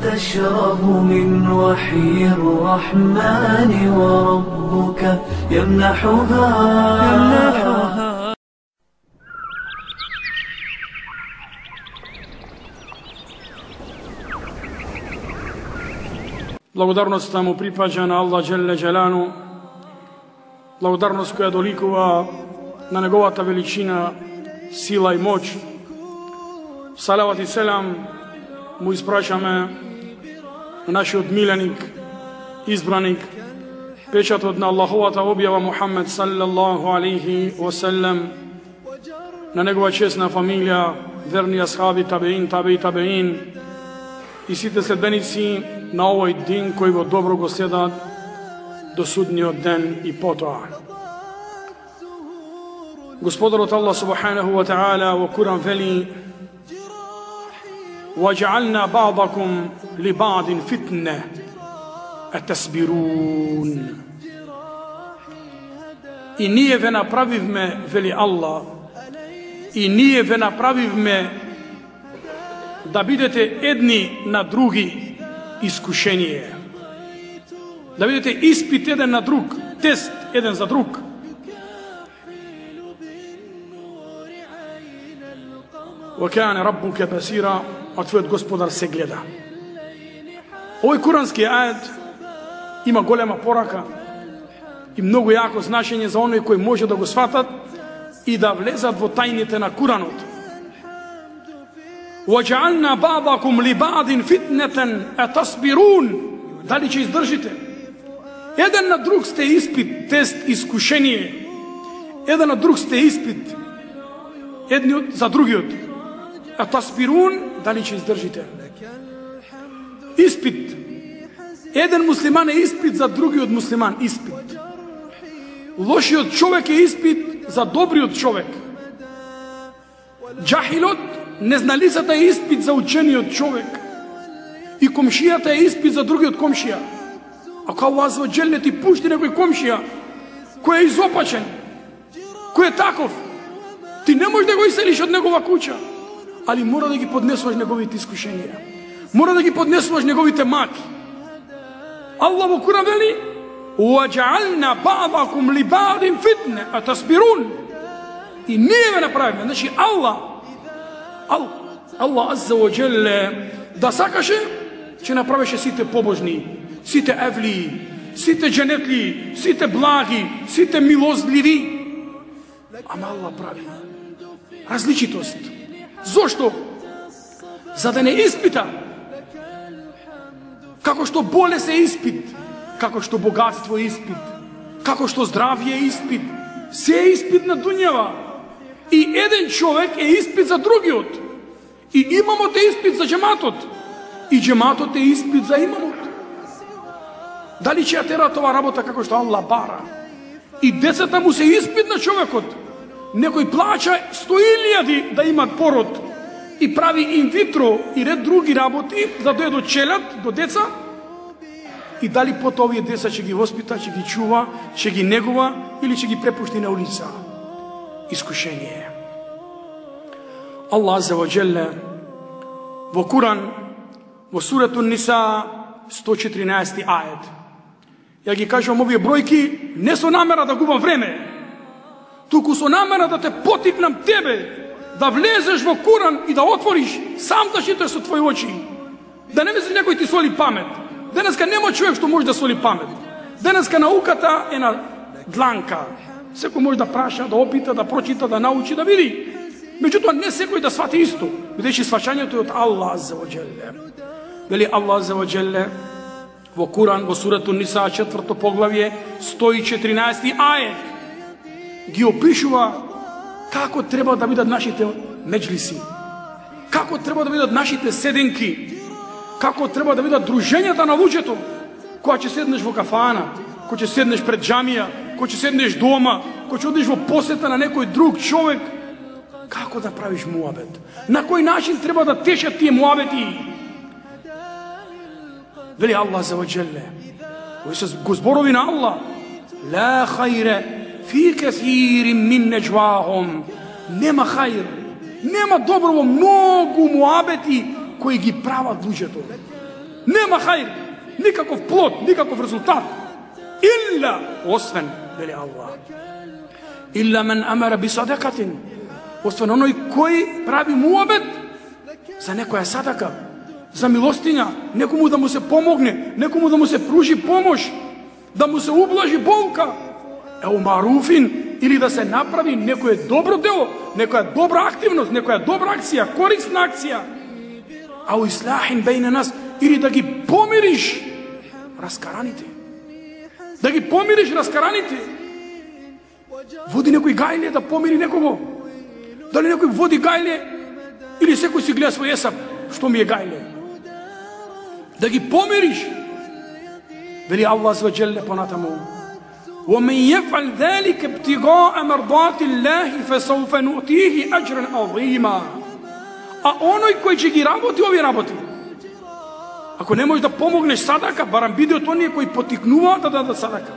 تشرب من وحي الرحمن وربك يمنحها. Благодарност му припаѓа на Аллах Джелле Джелану, благодарност која доликува на неговата величина, сила и моќ. Салават и селам му испрашаме на нашиот миленик, избраник, печатот на Аллаховата објава Мухаммед саллаллаху алейхи васелем, на негова честна фамилија, верни асхаби, табеин, табеин и сите следбеници на овој дин кој во добро го следат до судниот ден и потоа. Господарот Аллах субханаху ва таала во Куран вели: وَجَعَلْنَا بَعْضَكُمْ لِبَعْضٍ فِتْنَةً أَتَصْبِرُونَ. И ние ве направивме, вели Аллах, и ние ве направивме да бидете едни на други искушение, да бидете испит еден на друг, тест еден за друг. وَكَانَ رَبُّكَ بَصِيرًا, а твојот Господар се гледа. Овој курански ајет има голема порака и многу јако значење за оние кои може да го сватат и да влезат во тајните на Куранот. وَجَعَلْنَا بَعْضَكُمْ لِبَعْضٍ فِتْنَةً أَتَصْبِرُونَ. Дали ќе издржите? Еден на друг сте испит, тест, искушение. Еден на друг сте испит, едниот за другиот. Атасбирун, дали ќе издржите? Испит. Еден муслиман е испит за другиот муслиман, испит. Лошиот човек е испит за добриот човек. Джахилот, незналицата е испит за учениот човек. И комшијата е испит за другиот комшија. Ако Аллах азza ва џелле ти пушти некој комшија кој е изопачен, кој е таков, ти не можеш да го иселиш од негова куќа, али мора да ги поднесуваш неговите искушенија. Мора да ги поднесуваш неговите маки. Аллах во Куран вели: وَجَعَلْنَا بَعْضَكُمْ لِبَعْضٍ فِتْنَةً أَتَصْبِرُونَ. И ние ве направиме. Значи Аллах азza ва џелле да сакаше, ќе направеше сите побожни, сите евли, сите дженетли, сите благи, сите милостливи. Ама Аллах прави различитост. Зошто? За да не испита. Како што болест е испит, како што богатство е испит, како што здравје е испит, се е испит на дуњава. И еден човек е испит за другиот. И имамот е испит за джематот. И джематот е испит за имамот. Дали ќе ја тера това работа како што Аллах бара? И децата му се испит на човекот. Некој плача 100.000 да имат пород и прави инвитро и ред други работи да дојде до челат, до деца. И дали потоа овие деца ќе ги воспита, ќе ги чува, ќе ги негува или ќе ги препушти на улица? Искушение. Аллах азza ва џелле во Куран, во сурату Ниса 114 ајет. Ја ги кажувам овие бројки не со намера да губам време, туку со намера да те потикнам тебе да влезеш во Куран и да отвориш, сам да читаш со твои очи. Да не мислиш некој ти соли памет. Денеска нема човек што може да соли памет. Денеска науката е на дланка. Секој може да праша, да опита, да прочита, да научи, да види. Меѓутоа не секој да свати исто, бидејќи сваќањето е од Аллах азza ва џелле. Вели Аллах азza ва џелле во Куран, во сурату Ниса 4 поглавје 114 ајет ги опишува како треба да бидат нашите меџлиси, како треба да бидат нашите седенки, како треба да бидат дружењата на луѓето, кога ќе седнеш во кафана, кога ќе седнеш пред џамија, кога ќе седнеш дома, кога ќе одиш во посета на некој друг човек, како да правиш муабет, на кој начин треба да течат тие муабети. Вели Аллах азza ва џелле, кои се го зборови на Аллах: ла хајре фи кесирин мин неџвахум. Нема хајр, нема добро во многу муабети кои ги прават луѓето. Нема хајр, никаков плод, никаков резултат. Илла, освен, вели Аллах. Илла мен амара би садакатин. Освен оној кој прави муабет за некоја садака, за милостиња, некому да му се помогне, некому да му се пружи помош, да му се ублажи болка. Еу маруфин, или да се направи некое добро дело, некоја добра активност, некоја добра акција, корисна акција. Ау ислахин бейне нас, или да ги помириш раскараните. Да ги помириш раскараните. Води некој гајле да помири некого. Дали некој води гајле, или секој си гледа свој есап, што ми е гајле. Да ги помириш. Вели Аллах азza wa jalla понатаму. ومن يفعل ذلك ابتغاء مرضات الله فسوف نؤتيه أجرا عظيما. А оној кој ќе ги работи овие работи, ако не можеш да помогнеш садака, барам биде од оние кои потикнуваат да дадат садака,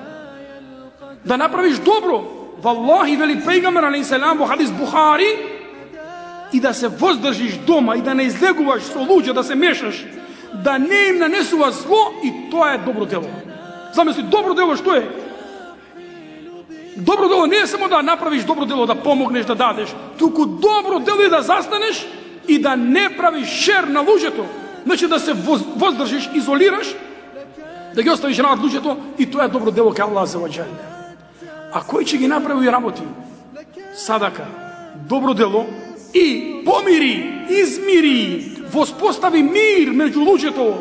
да направиш добро, валлахи, вели пејгамбер алейхи селам во хадис Бухари, и да се воздржиш дома и да не излегуваш со луѓе, да се мешаш, да не им нанесува зло, и тоа е добро дело. Замисли, добро дело што е? Добро дело не е само да направиш добро дело, да помогнеш, да дадеш, туку добро дело е да застанеш и да не правиш шер на луѓето. Значи да се воздржиш, изолираш, да ги оставиш над луѓето, и тоа е добро дело кај Аллах азza wa jalla. А кој ќе ги направи работи? Садака, добро дело, и помири, измири, воспостави мир меѓу луѓето.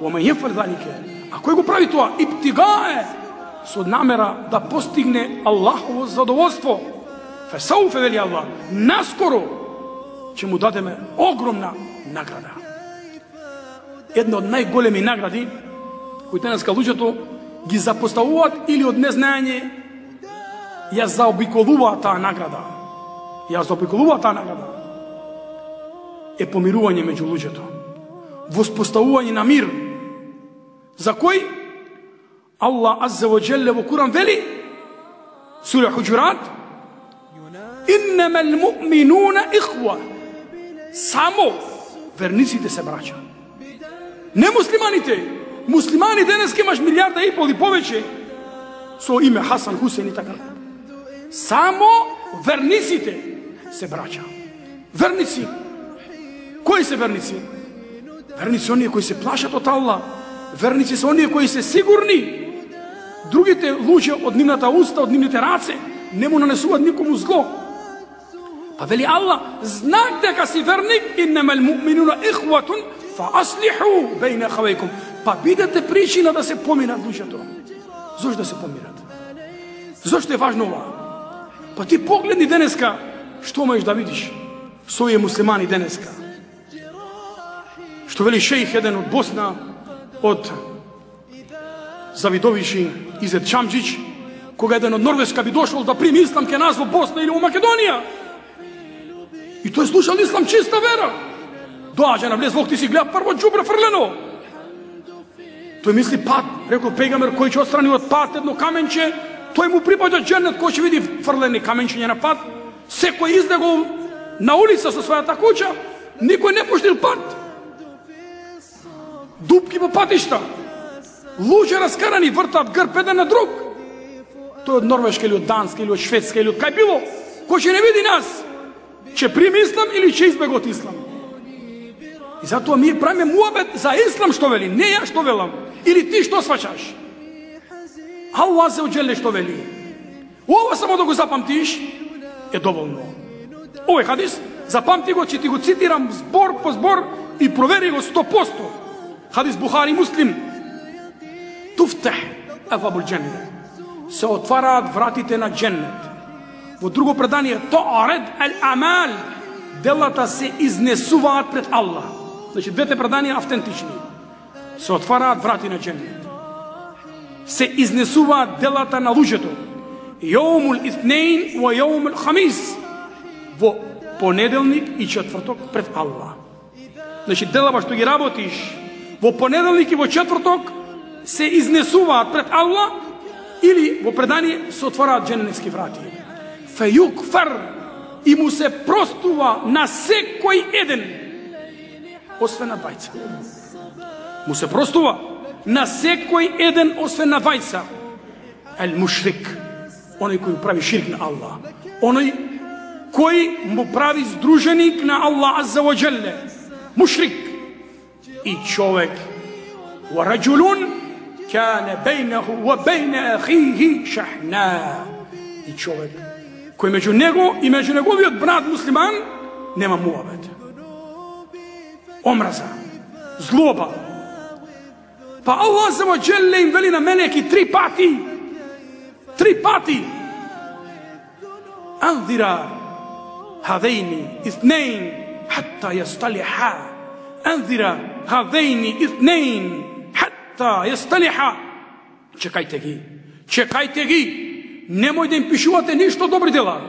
Омен јефер залике. А кој го прави тоа? Иптигае, со намера да постигне Аллахово задоволство. Фесауфе, вели Аллах, наскоро ќе му дадеме огромна награда. Една од најголеми награди кои денеска луѓето ги запоставуваат или од незнаење ја заобиколуваат таа награда. Е помирување меѓу луѓето. Воспоставување на мир. За кој? Аллах азza wa jalla во Куран вели, сура Хуџурат, иннамал муъминуна ихва. Само верниците се браќа. Не муслиманите. Муслимани денес имаш 1,5 милиарда и повеќе со име Хасан, Хусейн и така. Само верниците се браќа. Верници. Кои се верници? Верници оние кои се плашат од Аллах. Верници се оние кои се сигурни. Другите луѓе од нивната уста, од нивните раце, не му нанесуваат никому зло. Па вели Аллах, знак дека си верник, иннамал муъминуна ихватун фааслиху бейна ахавейкум. Па бидете причина да се помират луѓето. Зошто да се помират? Зошто е важно ова? Па ти погледни денеска, што можеш да видиш со овие муслимани денеска. Што вели шејх еден од Босна, од Завидовиши, Изет Чамџич, кога еден од Норвешка би дошол да прими ислам ке нас во Босна или во Македонија. И тој слушал ислам чиста вера. Доаѓа на влез, ти си гледа прво џубре фрлено. Тој мисли пат, рекол пејгамбер, кој ќе отстрани од пат едно каменче, тој му припаѓа џенет, кој ќе види фрлени каменчиња на пат. Секој излегол на улица со својата куќа, никој не пуштил пат. Дупки по патишта. Луѓе раскарани вртат грб еден на друг. Тој од Норвешка или од Данска или од Шведска или од кај било, кој ќе не види нас, ќе прими ислам или ќе избега од ислам. И затоа ми правиме муабет за ислам што вели, не ја што велам, или ти што сваќаш. Аллах азza wa jalla што вели. Ова само да го запамтиш е доволно. Овој хадис запамти го, ќе ти го цитирам збор по збор и провери го 100%. Хадис Бухари Муслим. Туфтах абвабул џеннет. Се отвараат вратите на џеннет. Во друго предание, тоаред ал-амал, делата се изнесуваат пред Аллах. Значи, двете предания автентични. Се отвараат врати на џеннет. Се изнесуваат делата на луѓето. Јаумул итнейн ва јаумул хамис. Во понеделник и четврток пред Аллах. Значи, делава што ги работиш во понеделник и во четврток се изнесуваат пред Аллах, или во предание се отвораат џеннетски врати. Фејукфар, и му се простува на секој еден, освен на двајца. му се простува на секој еден освен на двајца. Ел мушрик, оној кој прави ширк на Аллах, оној кој му прави здруженик на Аллах азза ва джелле, мушрик. И човек, ва раджулун кане бейнаху ва бейне ахихи шахна. И човек кој меѓу него и меѓу неговиот брат муслиман нема муабет, омраза, злоба. Па Аллах азза ва джелле им вели на мелеки 3 пати анзира هذين اثنين حتى يصطلحا انذر هذين اثنين حتى يصطلحا. Чекајте ги, немој да им пишувате ништо добри дела.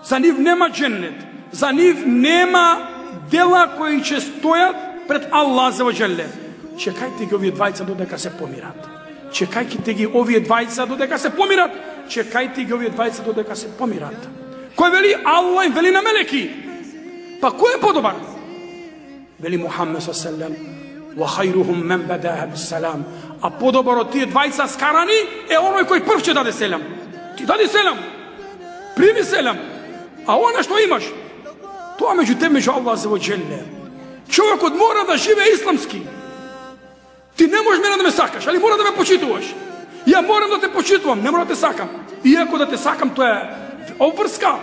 За нив нема дженнет, за нив нема дела кои ќе стојат пред Аллах азза ва джелле. Чекајте ги овие двајца додека се помират. Чекајте ги овие двајца додека се помират. Чекајте ги овие двајца додека се помират. Кој вели? Аллах им вели на мелеки. Па кој е подобар? Вели Мухаммед саллаллаху ва хајрухум мен бадаа бисалам. А подобар од тие двајца скарани е оној кој прв ќе даде селам. Ти дади селам, прими селам, а она што имаш, тоа меѓу тебе, меѓу Аллах азза ва джелле. Човекот мора да живее исламски. Ти не можеш мене да ме сакаш, али мора да ме почитуваш. Ја морам да те почитувам, не мора да те сакам. Иако да те сакам, тоа е обврска.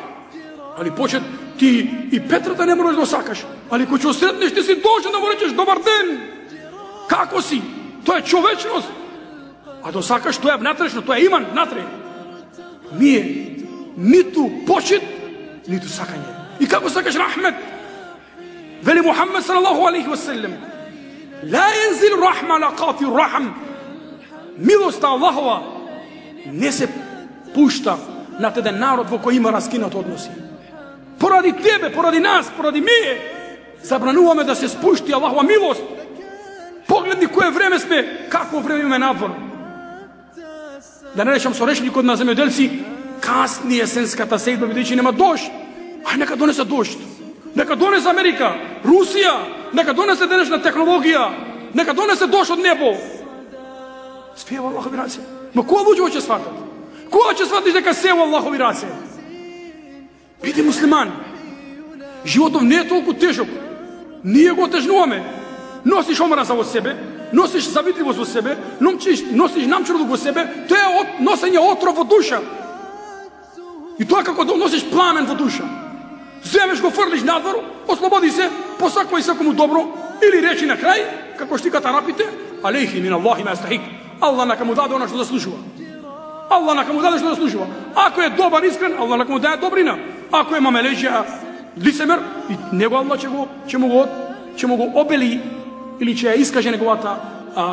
Али почет, ти и Петрата не можеш да сакаш. Али кој ќе сретнеш, ти си должен да му речеш добар ден. Како си? Тоа е човечност. А да сакаш, тоа е внатрешно, тоа е иман внатре. Ние ниту почит, ниту сакање. И како сакаш рахмет? Вели Мухаммед салаллаху алейхи ва саллем: ла янзил рахма ла кати рахм. Милоста Аллахова не се пушта над еден народ во кој има раскинат односи. Поради тебе, поради нас, поради ние, забрануваме да се спушти Аллахова милост. Погледни кое време сме, какво време имаме надвор. Да не речам со речникот на земјоделци, касни есенската седба, бидејќи нема дожд. Ај нека донесе дожд. Нека донесе Америка, Русија, нека донесе денешна технологија, нека донесе дожд од небо. Све во Аллахови раце. Но која луѓе ќе сватат? Кога ќе сватиш дека се во Аллахови раце? Биди муслиман. Животот не е толку тежок. Ние го тежнуваме. Носиш омраза во себе, носиш завидливост во себе, носиш намчурлук во себе, тоа е носење отров во душа. И тоа како да носиш пламен во душа. Земеш го фрлиш надвор, ослободи се, посаквај секому добро, или речи на крај, како штикат арапите, алейхи мин Аллахи ма јастахик. Аллах нека му даде она што заслужува. Аллах нека му даде што заслужува. Ако е добар, искрен, Аллах нека му даде добрина. Ако е мамелеџија, лицемер, и него Аллах ќе му го обели или ќе ја искаже неговата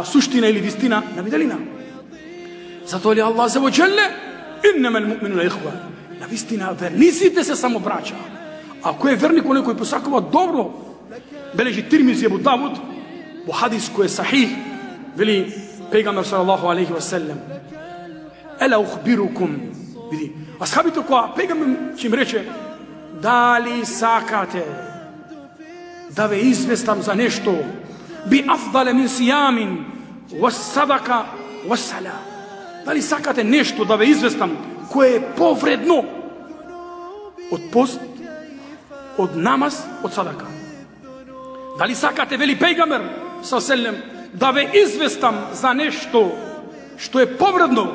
суштина или вистина на виделина. Затоа ли Аллах азза ва джелле иннамал муъминуна ихва. На вистина верниците се само браќа. Ако е верник оној кој посакува добро, бележи Тирмизи Абу Давуд во хадис кој е сахих, вели пегамбер салаллаху алейхи ва селлем: ела ухбирукум. Види, асхабите кога пегамбер ќе им рече: дали сакате да ве известам за нешто би афдале мин сиямин ва садака ва сала. Дали сакате нешто да ве известам кое е повредно од пост, од намаз, од садака? Дали сакате, вели пејгамбер саллаллаху, да ве известам за нешто што е повредно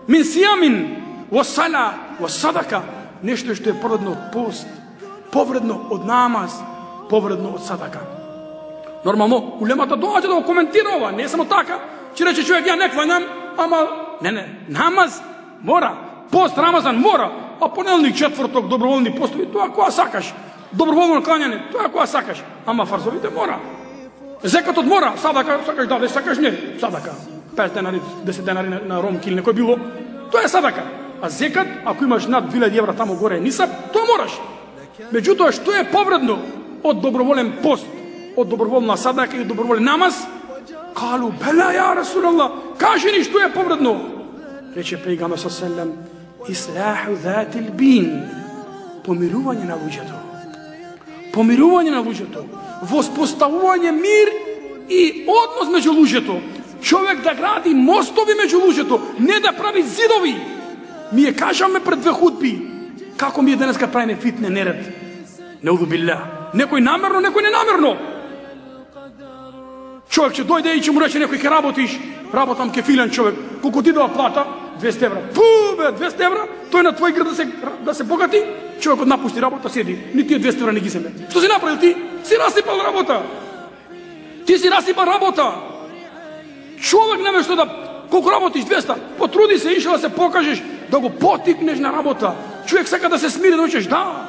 мин сиямин ва сала ва садака, нешто што е повредно од пост, повредно од намаз, повредно од садака? Нормално, улемата доаѓа да го коментира ова, не е само така, че рече човек ја не кланам, ама не, намаз мора, пост Рамазан мора, а понеделник, четврток, доброволни постови, тоа која сакаш, доброволно клањање, тоа која сакаш, ама фарзовите мора. Зекатот мора, садака сакаш да, сакаш не, садака, 5 денари, 10 денари на ромки или некој било, тоа е садака. А зекат, ако имаш над 2000 евра тамо горе нисаб, тоа мораш. Меѓутоа, што е повредно од доброволен пост, од доброволна садака и доброволен намаз? Калу, бела ја Расулаллах, кажи ни што е повредно. Рече пејгамбер саллаллаху, ислаху затил бин, помирување на луѓето. Помирување на луѓето, воспоставување мир и однос меѓу луѓето. Човек да гради мостови меѓу луѓето, не да прави зидови. Ми ја кажаме пред две худби како ми е денеска правиме фитне неред. Неуду билла. Некој намерно, некој ненамерно. Човек ќе дојде и ќе му рече некој ќе работиш, работам кефилен човек. Колку ти дава плата? 200 евра. Бе, 200 евра? Тој на твој град да се богати? Човекот напушти работа, седи. Ни тие 200 евра не ги земе. Што си направил ти? Си расипал работа. Ти си расипал работа. Човек наместо да колку работиш 200, потруди се, ишла да се покажеш, да го потикнеш на работа. Човек сака да се смири, да учеш, да.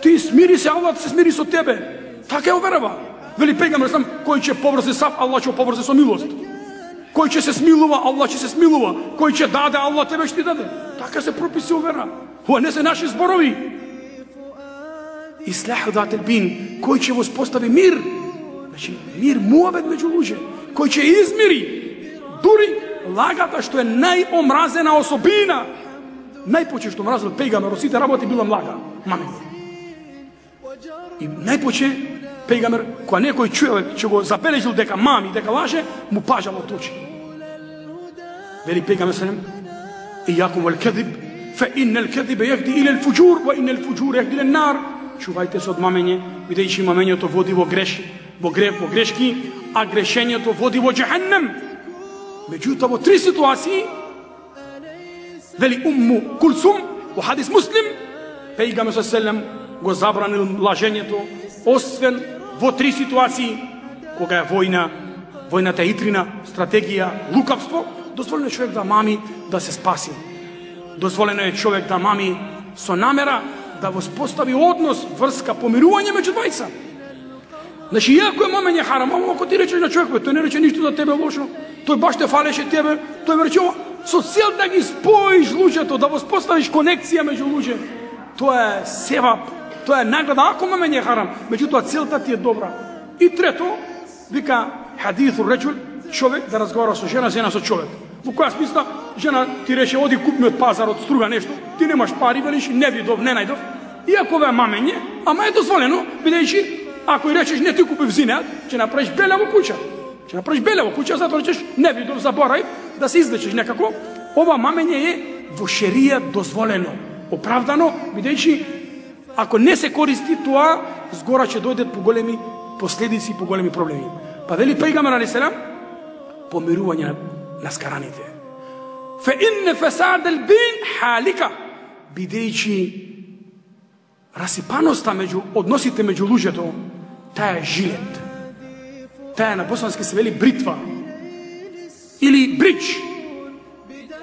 Ти смири се, Аллах се смири со тебе. Така е уверава. Вели пегамер сам, кој ќе поврзе сав, Аллах ќе поврзе со милост. Кој ќе се смилува, Аллах ќе се смилува. Кој ќе даде, Аллах тебе ќе ти даде. Така се прописи увера. Ова не се наши зборови. Ислах дател бин, кој ќе воспостави мир. Значи, мир, муабет меѓу луѓе. Кој ќе измири. Дури лагата што е најомразена особина. Најпоче што мразил пегамер, сите работи била млага. Маме. И најпоче пегамер, кога некој човек ќе го забележил дека мами, дека лаже, му пажал од очи. Вели пегамер салем, ијакум вал кадиб, фа иннал кадиб јахди илал фуџур, ва иннал фуџур јахди илан нар. Чувајте се од мамење, бидејќи мамењето води во греш, во грешки, а грешењето води во џехеннем. Меѓутоа во три ситуации, вели Умму Кулсум, во хадис Муслим, пегамер салем го забранил лажењето, освен во три ситуации, кога е војна, војната итрина, стратегија, лукавство, дозволено е човек да мами да се спаси. Дозволено е човек да мами со намера да воспостави однос, врска, помирување меѓу двајца. Значи, иако е мамење харам, ако ти речеш на човек, тој не рече ништо за тебе лошо, тој баш те фалеше тебе, тој рече со цел да ги споиш луѓето, да воспоставиш конекција меѓу луѓе. Тоа е севап. Тоа е награда, ако мамење харам, меѓутоа целта ти е добра. И трето, вика хадису реджул, човек да разговара со жена, жена со човек. Во која смисла, жена ти рече, оди купи од пазарот, струга нешто, ти немаш пари, велиш, не видов, не најдов. Иако ве мамење, ама е дозволено, бидејќи, ако и речеш, не ти купи взинеат, ќе направиш беле во куќа. Ќе направиш беле во куќа, затоа речеш, не видов, заборај, да се излечеш некако. Ова мамење е во шерија дозволено, оправдано, бидејќи ако не се користи тоа, згора ќе дојдат поголеми последици, поголеми проблеми. Па вели пегамер алейхиселам, помирување на скараните. Фе инне фесадел бин халика, бидејќи расипаноста меѓу односите меѓу луѓето, таа е жилет. Таа на босански се вели бритва. Или брич.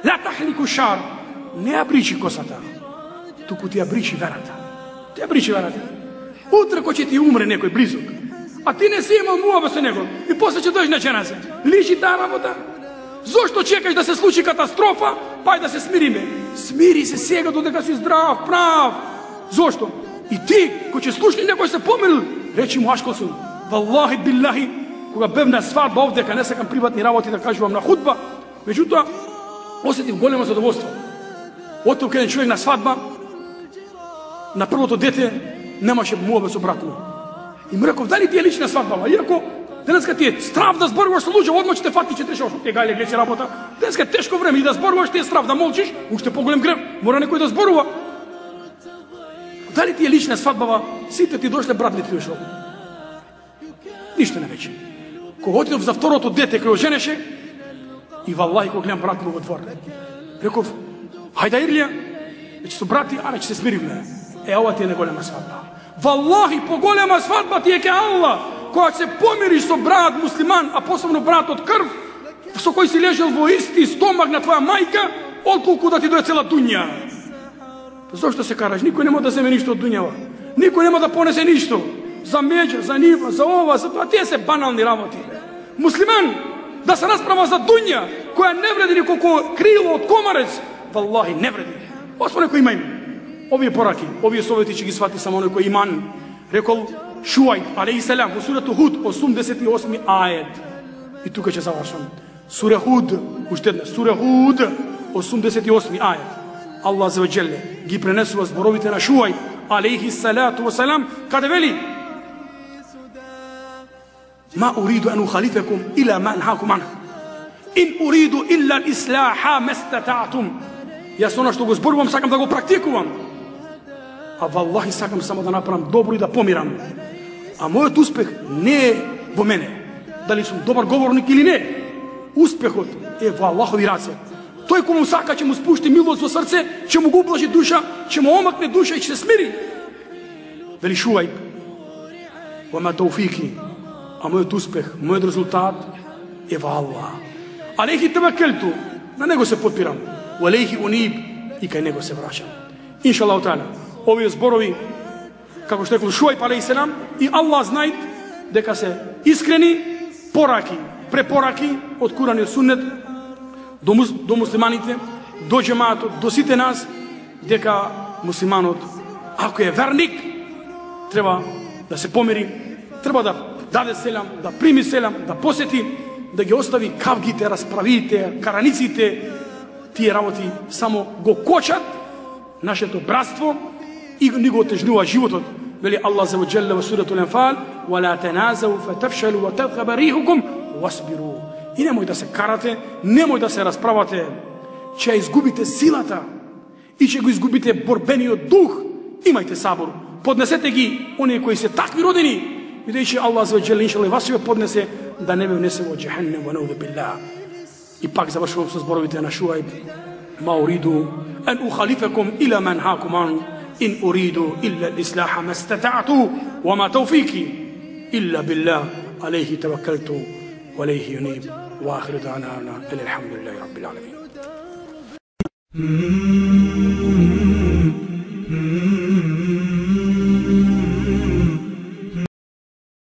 Ла тахлику шар. Не ја бричи косата, туку ти ја бричи верата. Ти ја бричи верата. Утре кој ќе ти умре некој близок, а ти не си имал муаба со него, и после ќе дојдеш на џеназе. Личи таа работа? Зошто чекаш да се случи катастрофа, па и да се смириме? Смири се сега додека си здрав, прав. Зошто? И ти, кој ќе слушни некој се помирил, речи му ашкосун, валлахи биллахи, кога бев на свадба овде, ка не сакам приватни работи да кажувам на худба, меѓутоа, осетив големо задоволство. Отиов кај човек на свадба, на првото дете немаше муабе со брат му. И му реков, дали ти е лична свадба? Иако денеска ти е страв да зборуваш со луѓе, одма ќе те фати, ќе трешаш, гајле, глеси работа. Денеска е тешко време и да зборуваш ти е страв, да молчиш, уште поголем грев, мора некој да зборува. Дали ти е лична свадба? Сите ти дошле, брат ли ти дошол? Ништо не вече. Кога отидов за второто дете, кај оженеше, и валлахи кога гледам брат му во двор. Реков, хајда Ирлија, веќе со брати, аре ќе се смиривме. Ова ти е неголема свадба. Валлахи, поголема свадба ти е ке Аллах, кога се помириш со брат муслиман, а посебно брат од крв, со кој си лежал во исти стомак на твоја мајка, отколку да ти дое цела дуња. Зошто се караш? Никој нема да земе ништо од дуњава. Никој нема да понесе ништо. За меѓа, за нива, за ова, за тоа. Тие се банални работи. Муслиман да се расправа за дуња, која не вреди николку крило од комарец, валлахи не вреди. Осмо некој има име. Овие пораки, овие совети ќе ги свати само некој иман. Рекол Шуајб алейхиселам во сурата Худ 88 ајет. И тука ќе завршам. Сура Худ, уште една, сура Худ 88 ајет. Allah azza wa jalla ги пренесува зборовите на Шуајб алейхи салату ва салам, каде вели: Ma uridu an ukhalifakum ila ma anhaakum anhu. In uridu illa al-islaha mastata'tum. Јас она што го зборувам сакам да го практикувам. А валлахи сакам само да направам добро и да помирам. А мојот успех не е во мене. Дали сум добар говорник или не. Успехот е во Аллахови раце. Тој кој му сака ќе му спушти милост во срце, ќе му го облажи душа, ќе му омакне душа и ќе се смири. Вели Шуајб: "Вама тауфики", а мојот успех, мојот резултат е во Аллах. Алейхи таваккалту, на него се потпирам. Алейхи униб, и кај него се враќам. Иншаллаху таала, овие зборови, како што рекол Шуајб алейхиссалам, и Аллах знај дека се искрени пораки, препораки од Куран и Суннет до муслиманите, до џемаатот, до сите нас, дека муслиманот, ако е верник, треба да се помири, треба да даде селам, да прими селам, да посети, да ги остави кавгите, расправите, караниците. Тие работи само го кочат нашето братство и ни го отежнува животот. Вели Аллах за ваджалла во суратул Анфал: "Вала таназау фатафшалу ва тадхаба рихукум wasbiru." И немој да се карате, немој да се расправате, ќе изгубите силата и ќе го изгубите борбениот дух. Имајте сабор, поднесете ги оние кои се такви родени, бидејќи Аллах за ваджалла иншаллах вас ќе поднесе да не ве внесе во џехеннем ва наудhu билlah. И пак завршувам со зборовите на Шуајб: "Ма уриду ан ухалифакум ила ман хакум ан, ин уриду illa al-islaha mastata'tu, wa ma tawfiki illa billah, alayhi tawakkaltu wa alayhi unib." Wa akhiru da'wana alhamdulillahi rabbil alamin.